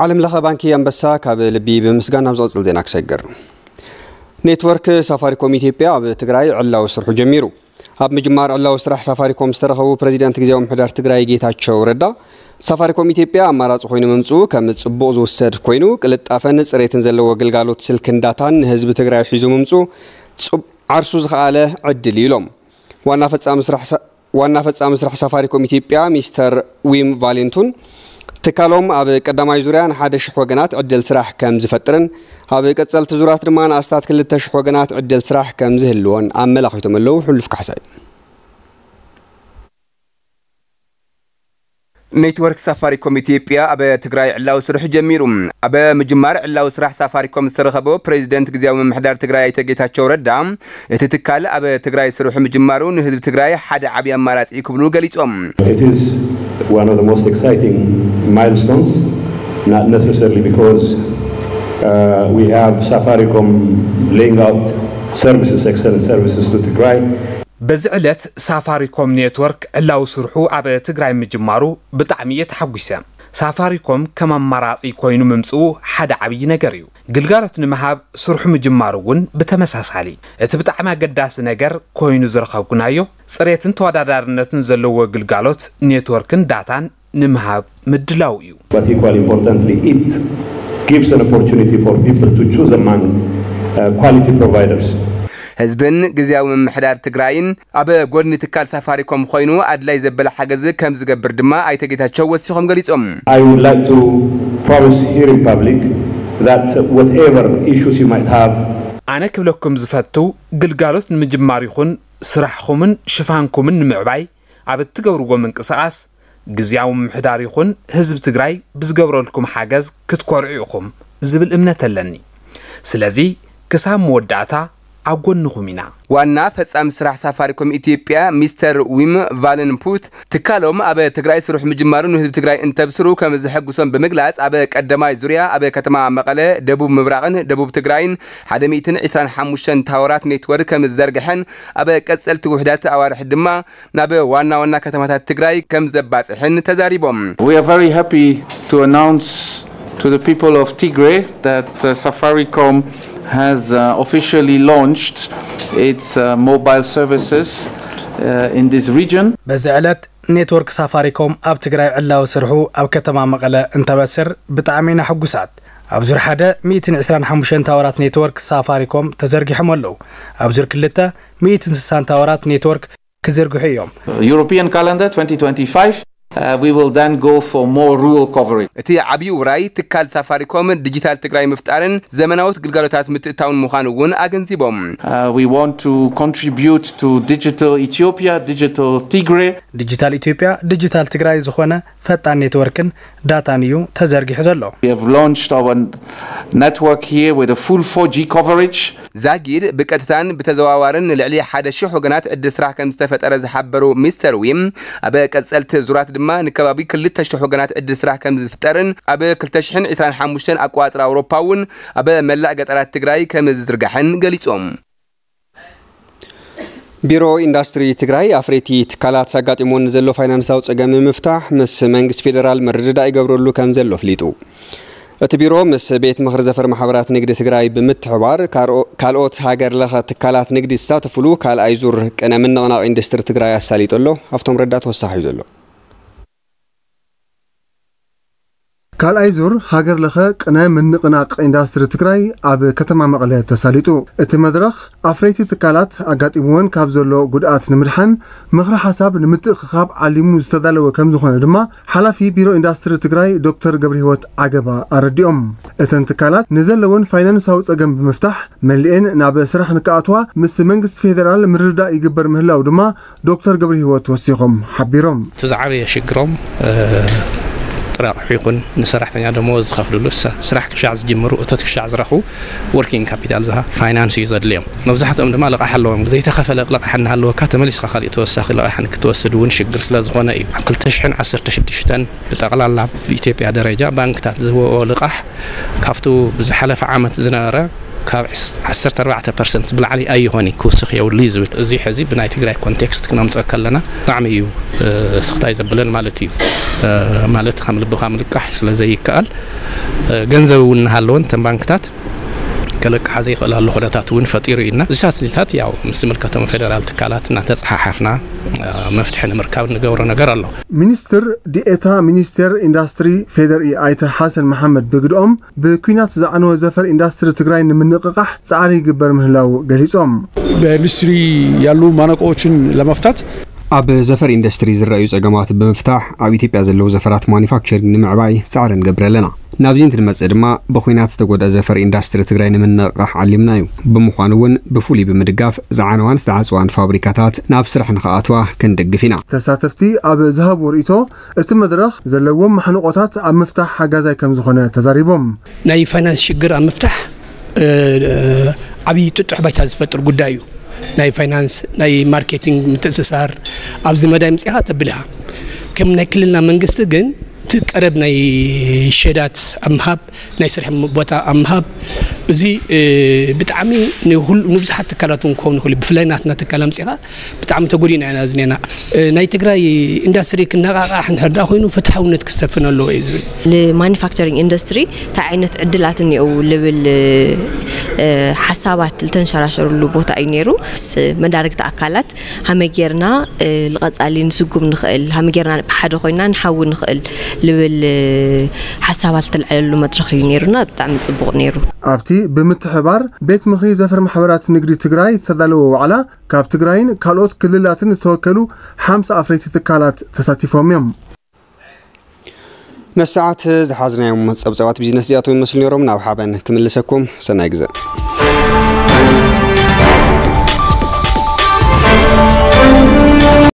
ዓለም ለኸ ባንኪ ኣንበሳ ካብ ልቢ ብምስጋን ናብ ዝቕጽል ዜና ክሰግር። ኔትወርክ ሳፋሪኮም ኢትዮጵያ ኣብ ትግራይ ዕላዊ ስርሑ ጀሚሩ። ኣብ ምጅማር ዕላዊ ስራሕ ሳፋሪኮም ዝተረኸቡ ፕሬዚዳንት ግዜያዊ ምምሕዳር ትግራይ ጌታቸው ረዳ፣ ሳፋሪኮም ኢትዮጵያ ኣማራፂ ኮይኑ ምምፅኡ ከም ፅቡቕ ዝውሰድ ኮይኑ፣ ቅልጣፈን ፅሬትን ዘለዎ ግልጋሎት ስልክን ዳታን ንህዝቢ ትግራይ ሒዙ ምምፅኡ ፅብ-፣ ዓርሱ ዝኸኣለ ዕድል እዩ ኢሎም። ዋና ፈጻሚ ስራሕ ሳ-፣ ዋና ፈጻሚ ስራሕ ሳፋሪኮም ኢትዮጵያ ሚስተር ዊም ቫሌንቱን፣ ትካሎም ኣብ ቀዳማይ ዙርያ ንሓደ ሽሕ ወገናት ዕድል ስራሕ ከም ዝፈጥርን ኣብ ቀጸልቲ ዙራት ድማ ንኣስታት ክልተ ሽሕ ወገናት ዕድል ስራሕ ከም ዝህልዎን ኣመላኺቶም ኣለዉ። ሕሉፍ ካሕሳይ። ኔትወርክ ሳፋሪኮም ኢትዮጵያ ኣብ ትግራይ ዕላዊ ስርሑ ጀሚሩ። ኣብ ምጅማር ዕላዊ ስራሕ ሳፋሪኮም ዝተረኸቦ ፕሬዚደንት ግዜያዊ ምምሕዳር ትግራይ ኣይተ ጌታቸው ረዳ፣ እቲ ትካል ኣብ ትግራይ ስርሑ ምጅማሩ ንህዝቢ ትግራይ ሓደ ዓብዪ ኣማራፂ እዩ ክብሉ ገሊፆም። It is one of the most exciting milestones, not necessarily because uh, we have Safaricom laying out services, excellent services to Tigray. በዚ ዕለት ሳፋሪኮም ኔትወርክ ዕላዊ ስርሑ ኣብ ትግራይ ምጅማሩ ብጣዕሚ እየ ተሓጒሰ። ሳፋሪኮም ከም ኣማራፂ ኮይኑ ምምፅኡ ሓደ ዓብዪ ነገር እዩ። ግልጋሎት ንምሃብ ስርሑ ምጅማሩ እውን ብተመሳሳሊ። እቲ ብጣዕሚ ኣገዳሲ ነገር ኮይኑ ዝረኸብኩናዮ፣ ፅሬትን ተወዳዳርነትን ዘለዎ ግልጋሎት ኔትወርክን ዳታን ንምሃብ ምድላው እዩ። But equally importantly, it gives an opportunity for people to choose among uh, quality providers. ህዝብን ግዜያዊ ምምሕዳር ትግራይን ኣብ ጎድኒ ትካል ሳፋሪኮም ኮይኑ ኣድላይ ዘበለ ሓገዝ ከም ዝገብር ድማ ኣይተ ጌታቸው ወሲኾም ገሊጾም። I would like to promise here in public that whatever issues you might have, ኣነ ክብለኩም ዝፈቱ፣ ግልጋሎት ንምጅማር ይኹን ስራሕኹምን ሽፋንኩምን ንምዕባይ ኣብ እትገብርዎ ምንቅስቓስ፣ ግዝያዊ ምምሕዳር ይኹን ህዝቢ ትግራይ ብዝገብረልኩም ሓገዝ ክትኮርዑ ኢኹም ዝብል እምነት ኣለኒ። ስለዚ ክሳብ መወዳእታ ኣብ ጎንኹም ኢና። ዋና ፈጻሚ ስራሕ ሳፋሪኮም ኢትዮጵያ ሚስተር ዊም ቫለንፑት፣ ትካሎም ኣብ ትግራይ ስርሑ ምጅማሩ ንህዝቢ ትግራይ እንተብስሩ ከም ዘሐጉሶም ብምግላጽ፣ ኣብ ቀዳማይ ዙርያ ኣብ ከተማ መቐለ፣ ደቡብ ምብራቕን ደቡብ ትግራይን ሓደ ሚእትን ዕስራን ሓሙሽተን ታወራት ኔትወርክ ከም ዝዘርግሐን ኣብ ቀጸልቲ ውሕዳት ኣዋርሕ ድማ ናብ ዋና ዋና ከተማታት ትግራይ ከም ዘባጽሕን ተዛሪቦም። We are very happy to announce to the people of Tigray that uh, Safaricom has uh, officially launched its uh, mobile services uh, in this region. በዚ ዕለት ኔትወርክ ሳፋሪኮም ኣብ ትግራይ ዕላዊ ስርሑ ኣብ ከተማ መቐለ እንተበስር ብጣዕሚ ኢና ሕጉሳት። ኣብ ዙር ሓደ ሚእትን ዕስራን ሓሙሽተን ታወራት ኔትወርክ ሳፋሪኮም ተዘርጊሖም ኣለዉ። ኣብ ዙር ክልተ ሚእትን ስሳን ታወራት ኔትወርክ ክዝርግሑ እዮም። European calendar twenty twenty-five, uh, we will then go for more rural coverage. እቲ ዓብዪ ውራይ ትካል ሳፋሪኮም ዲጂታል ትግራይ ምፍጣርን ዘመናዎት ግልጋሎታት ምትእታውን ምዃኑ እውን ኣገንዚቦም። Uh, we want to contribute to digital Ethiopia, digital Tigray. ዲጂታል ኢትዮጵያ፣ ዲጂታል ትግራይ ዝኾነ ፈጣን ኔትወርክን ዳታን እዩ ተዘርጊሑ ዘሎ። We have launched our network here with a full four G coverage. ዛጊድ ብቀጥታን ብተዘዋዋርን ንልዕሊ ሓደ ሽሕ ወገናት ዕድል ስራሕ ከም ዝተፈጠረ ዝሓበሩ ሚስተር ዊም፣ ኣብ ቀጸልቲ ዙራት ድማ ንከባቢ ክልተ ሽሕ ወገናት ዕድል ስራሕ ከም ዝፍጠርን ኣብ ክልተ ሽሕን ዕስራን ሓሙሽተን ኣቆጻጽራ ኣውሮፓ እውን ኣብ መላእ ገጠራት ትግራይ ከም ዝዝርጋሕን ገሊጾም። ቢሮ ኢንዳስትሪ ትግራይ ኣፍረይቲ ትካላት ኣጋጢሞን ዘሎ ፋይናንሳዊ ጸገም ንምፍታሕ ምስ መንግስቲ ፌደራል ምርድዳእ ይገብረሉ ከም ዘሎ ኣፍሊጡ። እቲ ቢሮ ምስ ቤት ምኽሪ ዘፈር ማሕበራት ንግዲ ትግራይ ብምትሕባር ካልኦ-፣ ካልኦት ሃገር ለኸ ትካላት ንግዲ ዝሳተፍሉ ካልኣይ ዙር ቅነ ምንቕናቕ ኢንዱስትሪ ትግራይ ኣሳሊጡ ኣሎ። ሃፍቶም ረዳ ተወሳኺ እዩ ዘሎ። ካልኣይ ዙር ሃገር ለኸ ቅነ ምንቕናቕ ኢንዳስትሪ ትግራይ ኣብ ከተማ መቐለ ተሳሊጡ። እቲ መድረኽ ኣፍረይቲ ትካላት ኣጋጢምወን ካብ ዘሎ ጉድኣት ንምድሓን ምኽሪ ሓሳብ ንምትእኽኻብ ዓሊሙ ዝተዳለወ ከም ዝኾነ ድማ ሓላፊ ቢሮ ኢንዳስትሪ ትግራይ ዶክተር ገብረህይወት ዓገባ ኣረዲኦም። እተን ትካላት ንዘለወን ፋይናንሳዊ ጸገም ብምፍታሕ መሊኤን ናብ ስራሕ ንክኣትዋ ምስ መንግስቲ ፌደራል ምርድዳእ ይግበር ምህላው ድማ ዶክተር ገብረህይወት ወሲኾም ሓቢሮም። እቲ ዝዓበየ ሽግሮም፣ እ፣ ጥረ ኣቕሑ ይኹን ንሰራሕተኛ ደመወዝ ዝኸፍልሉ፣ ሰ-፣ ስራሕ ክሻዕ ዝጅምሩ፣ እቶት ክሻዕ ዝረኽቡ፣ ወርኪንግ ካፒታል ዝሃ ፋይናንስ እዩ ዘድልዮም። መብዛሕትኦም ድማ ልቓሕ ኣለዎም። ዘይተኸፈለ ልቓሕ እናሃለወካ ተመሊስካ ካሊእ ተወሳኺ ልቓሕ ንክትወስድ እውን ሽግር ስለ ዝኾነ እዩ። ኣብ ክልተ ሽሕን ዓሰርተ ሽዱሽተን ብጠቕላላ ብኢትዮጵያ ደረጃ ባንክታት ዝህብኦ ልቓሕ ካብቱ ብዝሓለፈ ዓመት ዝነበረ ካብ ዓሰርተ ኣርባዕተ ፐርሰንት ብላዕሊ ኣይኾኒ ክውስኽ የብሉ እዩ ዝብል። እዚ ሕዚ ብናይ ትግራይ ኮንቴክስት ክነምፅኦ ከለና ብጣዕሚ እዩ ስኽታይ ዘብለን ማለት እዩ። ማለት ካብ ልብኻ ምልቃሕ ስለ ዘይከኣል፣ ገንዘብ እውን እናሃለወን እተን ባንክታት ከለቅሓ ዘይኽእላሉ ኩነታት እውን ፈጢሩ እዩ። እና እዚታት እዚታት ያው ምስ ዝምልከቶም ፌደራል ትካላት እናተፀሓሓፍና መፍትሒ ንምርካብ እንገብሮ ነገር ኣሎ። ሚኒስትር ዲኤታ ሚኒስቴር ኢንዳስትሪ ፌዴሪ ኣይተ ሓሰን መሓመድ ብግድኦም፣ ብኲናት ዝዓነወ ዘፈር ኢንዳስትሪ ትግራይ ንምንቕቓሕ ፃዕሪ ይግበር ምህላው ገሊፆም። በኢንዱስትሪ ያሉ ማነቆዎችን ለመፍታት ኣብ ዘፈር ኢንዱስትሪ ዝረኣዩ ጸገማት ብምፍታሕ፣ ኣብ ኢትዮጵያ ዘለዉ ዘፈራት ማኒፋክቸሪንግ ንምዕባይ ጻዕሪ ንገብር ኣለና። ናብዚ እንትንመጽእ ድማ፣ ብኹናት ዝተጎድኣ ዘፈር ኢንዳስትሪ ትግራይ ንምንቕቓሕ ዓሊምና እዩ። ብምዃኑ እውን፣ ብፍሉይ ብምድጋፍ፣ ዝዓነዋን ዝተዓጽዋን ፋብሪካታት ናብ ስራሕ ንኽኣትዋ ክንድግፍ ኢና። ተሳተፍቲ ኣብ ዝሃብዎ ርእይቶ፣ እቲ መድረኽ ዘለዎም ማሕንቖታት ኣብ ምፍታሕ ሓጋዛይ ከም ዝኾነ ተዛሪቦም። ናይ ፋይናንስ ሽግር ኣብ ምፍታሕ ዓብዪ ጥጡሕ ባይታ ዝፈጥር ጉዳይ እዩ። ናይ ፋይናንስ፣ ናይ ማርኬቲንግ ምትእስሳር ኣብዚ መዳይ ምፅኻ ተብል ኢኻ። ከም ናይ ክልልና መንግስቲ ግን እቲ ቀረብ ናይ ሸዳት ኣብ ምሃብ፣ ናይ ስራሕ ቦታ ኣብ ምሃብ፣ እዚ ብጣዕሚ ንብዙሓት ትካላት እውን ክኸውን ይኽእል እዩ። ብፍላይ ናትና ትካል ኣምፂኻ ብጣዕሚ ተጎዲና ኢና ዝኔና። ናይ ትግራይ ኢንዳስትሪ ክነቓቓሕ እንድሕር ደኣ ኮይኑ ፍትሓውነት ክሰፍን ኣለዎ እዩ ዝብል። ንማኒፋክቸሪንግ ኢንዱስትሪ እንታይ ዓይነት ዕድላት እኒአው ልብል ሓሳባት ዝተንሸራሸርሉ ቦታ እዩ ነይሩ። መዳርግቲ ኣካላት ሃመይ ጌርና ንቐፃሊ ንስጉም ንኽእል፣ ሃመይ ጌርና ብሓደ ኮይና ንሓዊ ንኽእል ልብል ሓሳባት ዝተልዓለሉ መድረኽ እዩ ነይሩና። ብጣዕሚ ፅቡቕ ነይሩ። ኣብቲ ብምትሕባር ቤት ምኽሪ ዘፈር ማሕበራት ንግዲ ትግራይ ዝተዳለወ ዋዕላ፣ ካብ ትግራይን ካልኦት ክልላትን ዝተወከሉ ሓምሳ ኣፍረይቲ ትካላት ተሳቲፎም እዮም። ነሰዓት ዝሓዝናዮም ጸብጻባት ቢዝነስ እዚኣቶም ይመስሉ ነይሮም። ናብ ሓበን ክምልሰኩም። ሰናይ ግዘ።